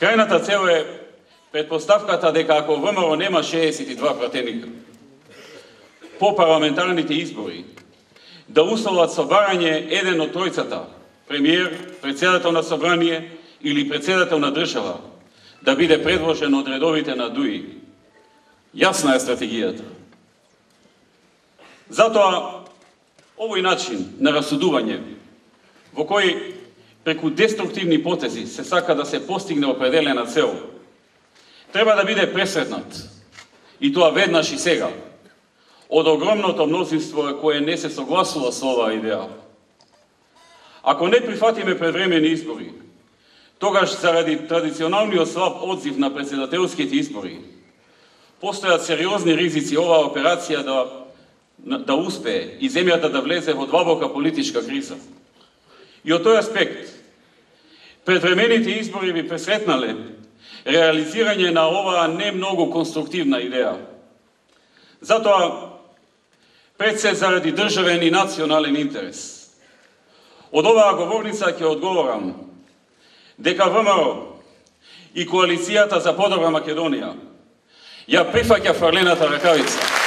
Крајната цел е предпоставката дека ако ВМРО нема 62 пратеника по парламентарните избори, да условат собарање еден од тројцата, премиер, председател на собрание или председател на држава, да биде предложен од редовите на ДУИ. Јасна е стратегијата. Затоа, овој начин на расудување, во кој преку деструктивни потези се сака да се постигне определена цел, треба да биде пресретнат, и тоа веднаш и сега, од огромното мнозинство кое не се согласува со оваа идеја. Ако не прифатиме предвремени избори, тогаш заради традиционалниот слаб одзив на председателските избори, постојат сериозни ризици оваа операција да успее и земјата да влезе во длабока политичка криза. И од тој аспект, предвремените избори би пресретнале реализирање на оваа не многу конструктивна идеја. Затоа, пред се заради државен и национален интерес, од оваа говорница ќе одговорам дека ВМРО и Коалицијата за подобра Македонија ја прифаќа фрлената ракавица.